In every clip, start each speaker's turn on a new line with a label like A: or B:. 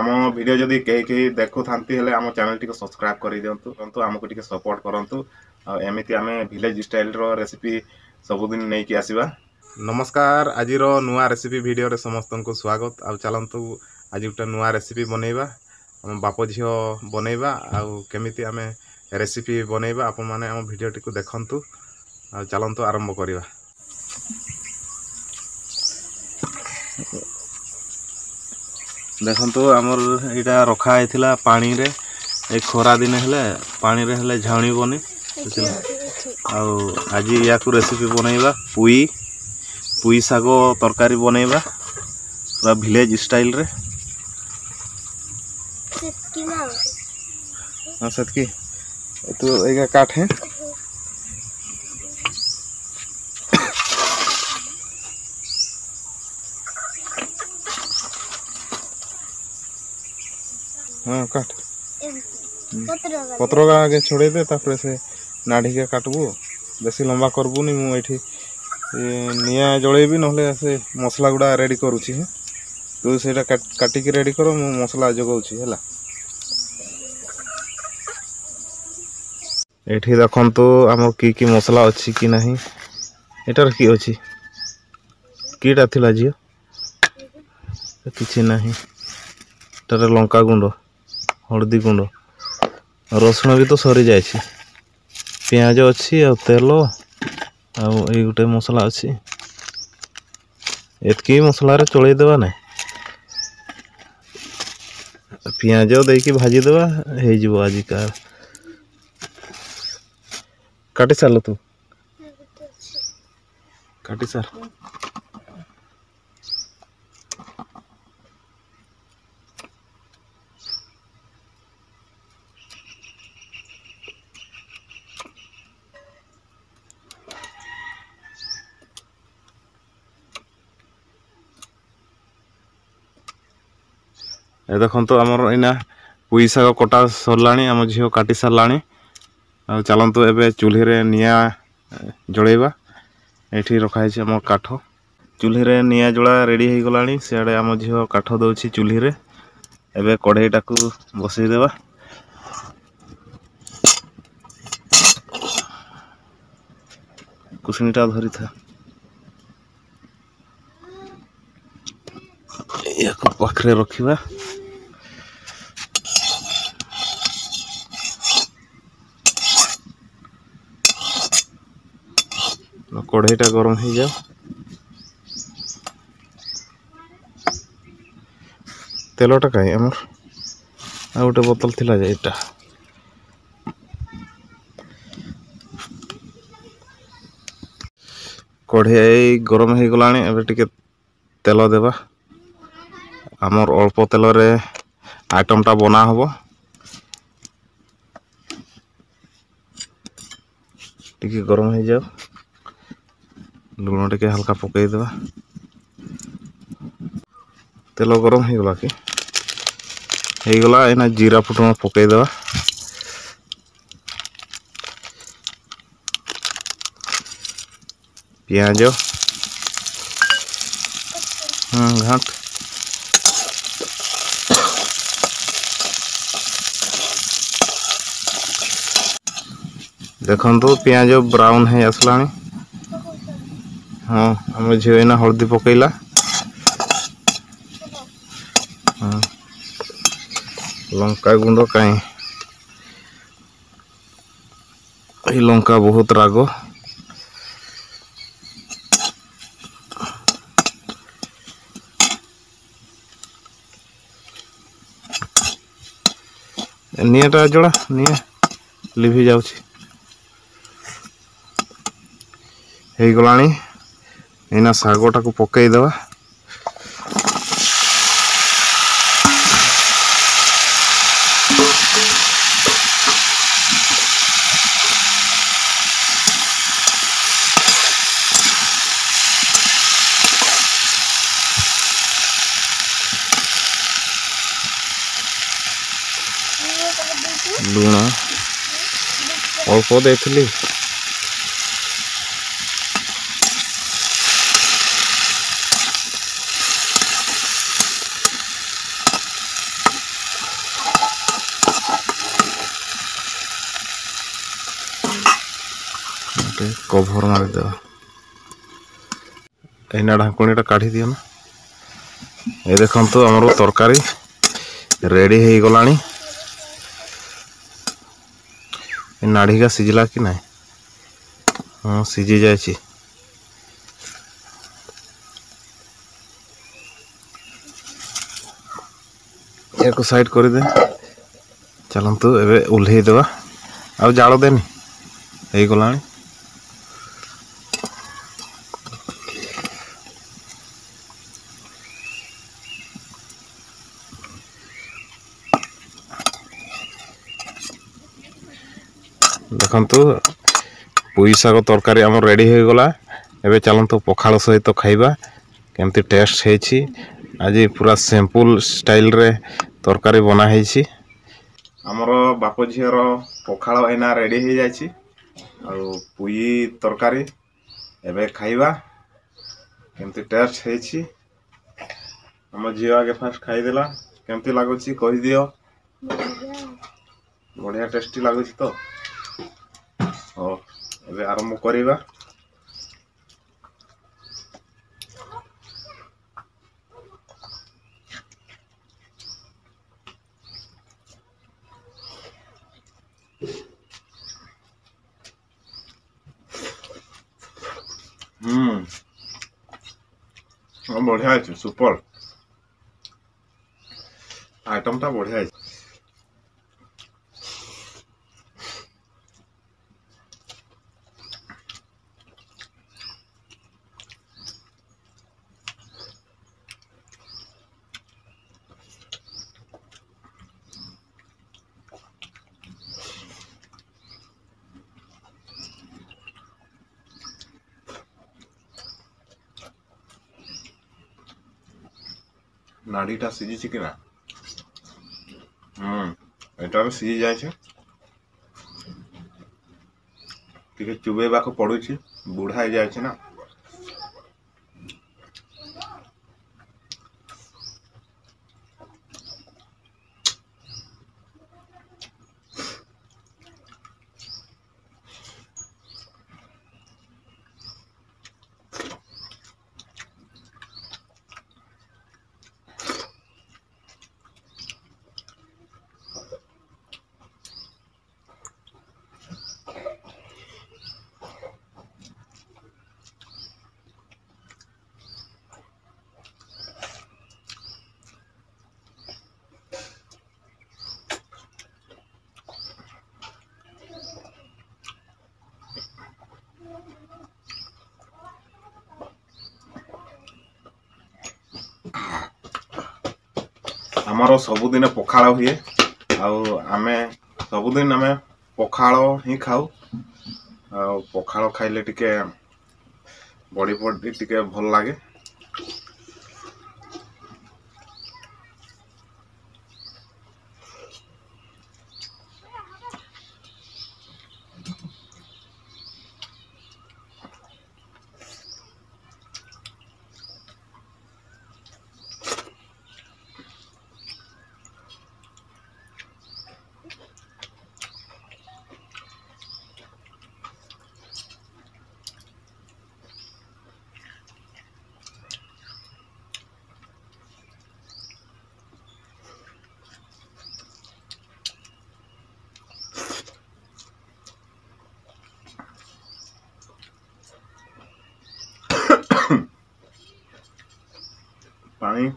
A: ଆମ ଭିଡ଼ିଓ ଯଦି କେହି କେହି ଦେଖୁଥାନ୍ତି ହେଲେ ଆମ ଚ୍ୟାନେଲଟିକୁ ସବସ୍କ୍ରାଇବ୍ କରିଦିଅନ୍ତୁ, ଆମକୁ ଟିକେ ସପୋର୍ଟ କରନ୍ତୁ। ଆଉ ଏମିତି ଆମେ ଭିଲେଜ ଷ୍ଟାଇଲର ରେସିପି ସବୁଦିନ ନେଇକି ଆସିବା। ନମସ୍କାର, ଆଜିର ନୂଆ ରେସିପି ଭିଡ଼ିଓରେ ସମସ୍ତଙ୍କୁ ସ୍ୱାଗତ। ଆଉ ଚାଲନ୍ତୁ ଆଜି ଗୋଟେ ନୂଆ ରେସିପି ବନେଇବା, ଆମ ବାପ ଝିଅ ବନେଇବା। ଆଉ କେମିତି ଆମେ ରେସିପି ବନେଇବା ଆପଣମାନେ ଆମ ଭିଡ଼ିଓଟିକୁ ଦେଖନ୍ତୁ। ଆଉ ଚାଲନ୍ତୁ ଆରମ୍ଭ କରିବା। ଦେଖନ୍ତୁ, ଆମର ଏଇଟା ରଖା ହେଇଥିଲା ପାଣିରେ। ଏ ଖରା ଦିନ ହେଲେ ପାଣିରେ ହେଲେ ଝାଉଁଳିବନି। ଆଉ ଆଜି ୟାକୁ ରେସିପି ବନେଇବା, ପୁଇ ପୁଇ ଶାଗ ତରକାରୀ ବନେଇବା ପୁରା ଭିଲେଜ ଷ୍ଟାଇଲରେ। ହଁ, ସେତିକି ତୁ ଏଇଟା କାଠ। ହଁ, କାଟ ପତ୍ର ଆଗେ ଛଡ଼େଇ ଦେ, ତାପରେ ସେ ନାଢ଼ିକେ କାଟବୁ। ବେଶୀ ଲମ୍ବା କରିବୁନି। ମୁଁ ଏଇଠି ନିଆଁ ଜଳେଇବି, ନହେଲେ ସେ ମସଲା ଗୁଡ଼ା ରେଡ଼ି କରୁଛି। ହଁ, ତୁ ସେଇଟା କାଟିକି ରେଡ଼ି କର, ମୁଁ ମସଲା ଯୋଗାଉଛି। ହେଲା, ଏଇଠି ଦେଖନ୍ତୁ ଆମର କି କି ମସଲା ଅଛି କି ନାହିଁ। ଏଟାର କି ଅଛି? କିଟା ଥିଲା ଝିଅ? କିଛି ନାହିଁ। ଏଟାରେ ଲଙ୍କା ଗୁଣ୍ଡ, ହଳଦୀ ଗୁଣ୍ଡ, ରସୁଣ ବି ତ ସରିଯାଇଛି, ପିଆଜ ଅଛି ଆଉ ତେଲ ଆଉ ଏଇ ଗୋଟେ ମସଲା ଅଛି। ଏତିକି ମସଲାରେ ଚଳେଇଦେବା। ନାଇଁ, ପିଆଜ ଦେଇକି ଭାଜିଦେବା, ହେଇଯିବ ଆଜିକା। କାଟି ସାରିଲ? ତୁ କାଟି ସାର। ଏ ଦେଖନ୍ତୁ, ଆମର ଏଇନା ପୁଇ ଶାଗ କଟା ସରିଲାଣି, ଆମ ଝିଅ କାଟି ସାରିଲାଣି। ଆଉ ଚାଲନ୍ତୁ ଏବେ ଚୁଲିରେ ନିଆଁ ଜଳେଇବା। ଏଇଠି ରଖାହେଇଛି ଆମ କାଠ। ଚୁଲିରେ ନିଆଁ ଜଳା ରେଡ଼ି ହେଇଗଲାଣି। ସିଆଡ଼େ ଆମ ଝିଅ କାଠ ଦେଉଛି ଚୁଲିରେ। ଏବେ କଢ଼େଇଟାକୁ ବସେଇଦେବା। କୁସୁଣିଟା ଧରିଥା, ୟାକୁ ପାଖରେ ରଖିବା। କଢ଼େଇଟା ଗରମ ହେଇଯାଉ। ତେଲଟା କାହିଁ? ଆମର ଆଉ ଗୋଟେ ବୋତଲ ଥିଲା ଯେ ଏଇଟା। କଢ଼େଇ ଗରମ ହେଇଗଲାଣି, ଏବେ ଟିକେ ତେଲ ଦେବା। ଆମର ଅଳ୍ପ ତେଲରେ ଆଇଟମଟା ବନା ହବ। ଟିକେ ଗରମ ହେଇଯାଉ। ଲୁଣ ଟିକେ ହାଲକା ପକେଇଦେବା। ତେଲ ଗରମ ହେଇଗଲା କି? ହେଇଗଲା। ଏଇନା ଜିରା ଫୁଟଣ ପକେଇଦେବା। ପିଆଜ ଘାଣ୍ଟ। ଦେଖନ୍ତୁ, ପିଆଜ ବ୍ରାଉନ୍ ହେଇ ଆସିଲାଣି। ହଁ, ଆମ ଝିଅ ଏଇନା ହଳଦୀ ପକେଇଲା। ହଁ, ଲଙ୍କା ଗୁଣ୍ଡ କାହିଁ? ଏଇ ଲଙ୍କା ବହୁତ ରାଗ। ନିଆଁଟା ଜଳା, ନିଆଁ ଲିଭି ଯାଉଛି। ହେଇଗଲାଣି, ଏଇନା ଶାଗଟାକୁ ପକେଇଦେବା। ଲୁଣ ଅଳ୍ପ ଦେଇଥିଲି। ଗୋଟେ କଭର ମାରିଦେବା। ଏଇନା ଢାଙ୍କୁଣୀଟା କାଢ଼ି ଦିଅ ନା। ଏ ଦେଖନ୍ତୁ, ଆମର ତରକାରୀ ରେଡ଼ି ହେଇଗଲାଣି। ଏ ନାଢ଼ିକା ସିଝିଲା କି ନାହିଁ? ହଁ, ସିଝି ଯାଇଛି। ୟାକୁ ସାଇଡ୍ କରିଦେ। ଚାଲନ୍ତୁ, ଏବେ ଓହ୍ଲେଇ ଦେବା। ଆଉ ଜାଳ ଦେନି, ହେଇଗଲାଣି। ଦେଖନ୍ତୁ, ପୋଇ ଶାଗ ତରକାରୀ ଆମର ରେଡ଼ି ହୋଇଗଲା। ଏବେ ଚାଲନ୍ତୁ ପଖାଳ ସହିତ ଖାଇବା, କେମିତି ଟେଷ୍ଟ ହେଇଛି। ଆଜି ପୁରା ସିମ୍ପଲ୍ ଷ୍ଟାଇଲରେ ତରକାରୀ ବନା ହେଇଛି। ଆମର ବାପ ଝିଅର ପଖାଳ ଏଇନା ରେଡ଼ି ହେଇଯାଇଛି ଆଉ ପୋଇ ତରକାରୀ। ଏବେ ଖାଇବା, କେମିତି ଟେଷ୍ଟ ହେଇଛି। ଆମ ଝିଅ ଆଗେ ଫାଷ୍ଟ ଖାଇଦେଲା। କେମିତି ଲାଗୁଛି କହିଦିଅ। ବଢ଼ିଆ ଟେଷ୍ଟି ଲାଗୁଛି ତ? ହଉ, ଏବେ ଆରମ୍ଭ କରିବା। ହୁଁ, ବଢ଼ିଆ ହେଇଛି, ସୁପର ଆଇଟମଟା ବଢ଼ିଆ ହେଇଛି। ନାଡ଼ିଟା ସିଝିଛି କି ନା? ହୁଁ, ଏଇଟା ବି ସିଝି ଯାଇଛି। ଟିକେ ଚୁବେଇବାକୁ ପଡୁଛି, ବୁଢ଼ା ହେଇଯାଇଛି ନା। ଆମର ସବୁଦିନ ପଖାଳ ହୁଏ ଆଉ ଆମେ ସବୁଦିନ ଆମେ ପଖାଳ ହିଁ ଖାଉ। ଆଉ ପଖାଳ ଖାଇଲେ ଟିକେ ବଡ଼ି ଫଡ଼ି ଟିକେ ଭଲ ଲାଗେ। ପାଣି।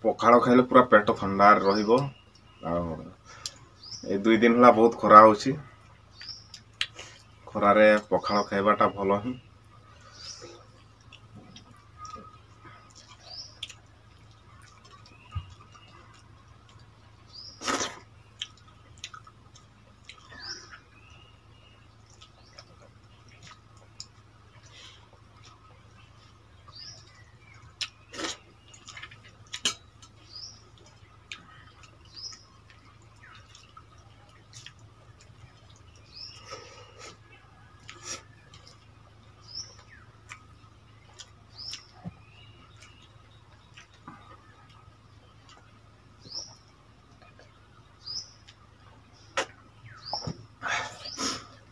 A: ପଖାଳ ଖାଇଲେ ପୁରା ପେଟ ଥଣ୍ଡାରେ ରହିବ। ଆଉ ଏଇ 2 ଦିନ ହେଲା ବହୁତ ଖରା ହେଉଛି। ଖରାରେ ପଖାଳ ଖାଇବାଟା ଭଲ ହିଁ।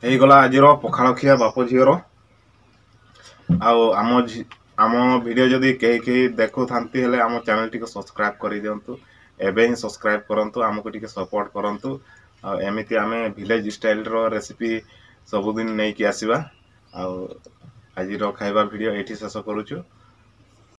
A: ହେଇଗଲା ଆଜିର ପଖାଳ ଖିଆ ବାପ ଝିଅର। ଆଉ ଆମ ଭିଡ଼ିଓ ଯଦି କେହି କେହି ଦେଖୁଥାନ୍ତି ହେଲେ, ଆମ ଚ୍ୟାନେଲଟିକୁ ସବସ୍କ୍ରାଇବ୍ କରିଦିଅନ୍ତୁ। ଏବେ ହିଁ ସବସ୍କ୍ରାଇବ୍ କରନ୍ତୁ, ଆମକୁ ଟିକେ ସପୋର୍ଟ କରନ୍ତୁ। ଆଉ ଏମିତି ଆମେ ଭିଲେଜ ଷ୍ଟାଇଲର ରେସିପି ସବୁଦିନ ନେଇକି ଆସିବା। ଆଉ ଆଜିର ଖାଇବା ଭିଡ଼ିଓ ଏଇଠି ଶେଷ କରୁଛୁ।